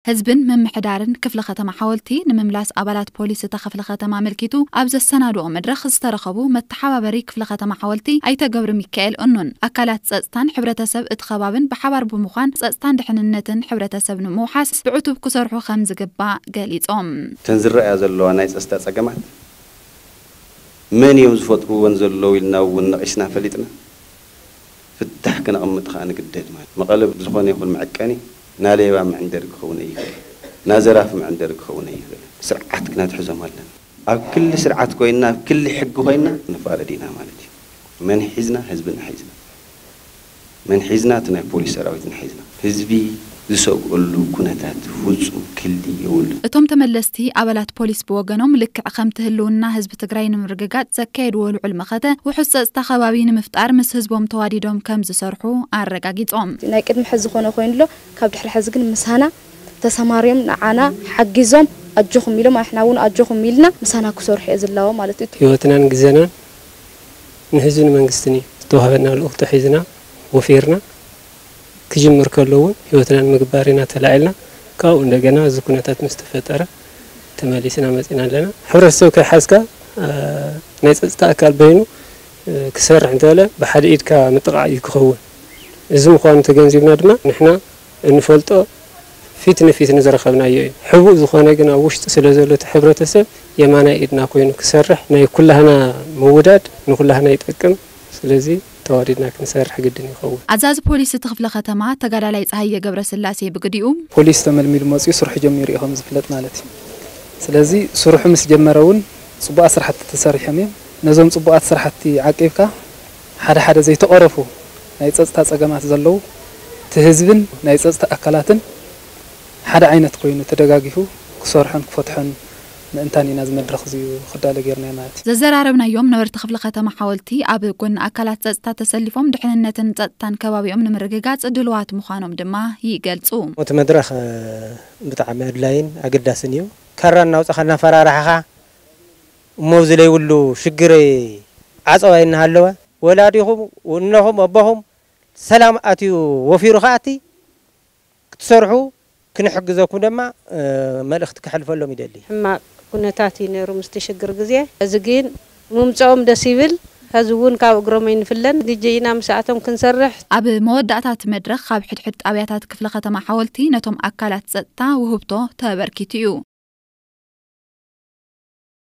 ህዝብን ምምሕዳርን ክፍለ ከተማ ሓወልቲ ንምምላስ ኣባላት ፖሊስ እታ ክፍለ ከተማ ኣመልኪቱ ኣብ ዘሰናድኦ መድረኽ ዝተረኸቡ መተሓባበሪ ክፍለ ከተማ ሓወልቲ ኣይተ ገብረ ሚካኤል እኑን፣ ኣካላት ጸጥታን ሕብረተሰብ እቲ ከባብን ብሓባር ብምዃን ጸጥታን ድሕንነትን ሕብረተሰብ ንምውሓስ ብዕቱብ ክሰርሑ ከም ዝግባእ ገሊጾም። እተን ዝረኣያ ዘለዋ ናይ ጸጥታ ጸገማት መን እዮም ዝፈጥርወን ዘለዉ ኢልና እውን ነቒስና ፈሊጥና ፍታሕ ክነቕምጥ ኸዓ ንግደድ። ማለት መቐለ ዝኾነ ይኹን መዐቀኒ ናሌባ መዐንደሪ ክኸውን ኣይኽእል፣ ናዘራፊ መዐንደሪ ክኸውን ኣይኽእል። ስርዓት ክነትሕዞም ኣለና። ኣብ ክሊ ስርዓት ኮይንና ኣብ ክሊ ሕጊ ኮይንና ንፋረድ ኢና ማለት እዩ። መን ሒዝና? ህዝብና ሒዝና። መን ሒዝና? እቲ ናይ ፖሊስ ሰራዊት ንሒዝና። ህዝቢ ዝሰግኣሉ ኩነታት ፍጹም ክሊ የብሉን። እቶም ተመለስቲ ኣባላት ፖሊስ ብወገኖም ልክዕ ከምቲ ህልውና ህዝቢ ትግራይ ንምርግጋጽ ዘካየድዎ ልዑል መኸተ ውሑስ ጸጥታ ከባቢ ንምፍጣር ምስ ህዝቦም ተዋዲዶም ከም ዝሰርሑ ኣረጋጊጾም። ናይ ቅድሚ ሕዚ ዝኾነ ኮይኑ ኣሎ፣ ካብ ድሕሪ ሕዚ ግን ምሳና ተሰማርዮም ንዓና ሓጊዞም ኣጆኹም ኢሎም ኣሕና እውን ኣጆኹም ኢልና ምሳና ክሰርሑ እየ ዝላዎ ማለት እዩ። ህይወትናን ግዜናን ንህዝብን መንግስትን እዩ። ዝተዋህበና ልኡኽቶ ሒዝና ወፊርና ክጅምር ከሎ እውን ህይወትና ንምግባር ኢና ተላዒልና። ካብኡ እንደገና እዚ ኩነታት ምስ ተፈጠረ ተመሊስና መፂና ኣለና። ሕብረተሰብ ከይሓዝካ ናይ ፀፅታ ኣካል በይኑ ክሰርሕ እንተበለ ብሓደ ኢድካ ምጥቓዕ እዩ ክኸውን። እዚ ምዃኑ ተገንዚብና ድማ ንሕና እንፈልጦ ፊት ንፊት ንዝረኸብናዮ እዩ። ሕቡእ ዝኾነ ግን ኣብ ውሽጢ ስለ ዘሎ እቲ ሕብረተሰብ የማናይ ኢድና ኮይኑ ክሰርሕ ናይ ኩላህና ምውዳድ ንኩላህና ይጠቅም። ስለዚ ተዋዲድና ክንሰርሕ ግድን ይኸውን። ኣዛዚ ፖሊስ እቲ ክፍለ ከተማ ተጋዳላይ ፀሃየ ገብረስላሴ ብግዲኡ፣ ፖሊስ ተመልሚሉ መፂኡ ስርሑ ጀሚሩ እዩ ከም ዝፍለጥ ማለት እዩ። ስለዚ ስርሑ ምስ ጀመረ እውን ፅቡቓት ስራሕቲ ተሰሪሖም እዮም። ነዞም ፅቡቓት ስራሕቲ ዓቂብካ ሓደ ሓደ ዘይተቐረፉ ናይ ፀፅታ ፀገማት ዘለዉ እቲ ህዝብን ናይ ፀፅታ ኣካላትን ሓደ ዓይነት ኮይኑ ተደጋጊፉ ክሰርሖን ክፈትሖን ምእንታን ኢና እዚ መድረኽ እዚ ክዳለ ጌርናዮ ማለት እዩ። ዘዘራረብናዮም ነበርቲ ክፍለ ከተማ ሓወልቲ ኣብ ጎኒ ኣካላት ፀፅታ ተሰሊፎም ድሕንነትን ፀጥታን ከባቢኦም ንምርግጋፅ ድልዋት ምዃኖም ድማ ይገልፁ። እቲ መድረኽ ብጣዕሚ ኣድላይን ኣገዳስን እዩ። ካራ እናውፀኻ እናፈራራሕኻ እሞ ኣብዚ ለይብሉ ሽግር ዓፀዋ እናሃለወ ወላዲኹም እነኹም ኣቦኹም ሰላም ኣትዩ ወፊሩ ከኣቲ ክትሰርሑ ክንሕግዘኩም ድማ መልእኽቲ ከሕልፈሎም ይደሊ። ሕማቕ ኩነታት እዩ ነይሩ ምስቲ ሽግር ግዜ። እዚ ግን ምምፅኦም ደስ ይብል። ሕዚ እውን ካብ እግሮም ኣይንፍለን። ግጂ ኢና ምስኣቶም ክንሰርሕ። ኣብ መወዳእታ እቲ መድረኽ ካብ ሕድሕድ ጣብያታት ክፍለ ከተማ ሓወልቲ ነቶም ኣካላት ፀጥታ ውህብቶ ተበርኪቱ እዩ።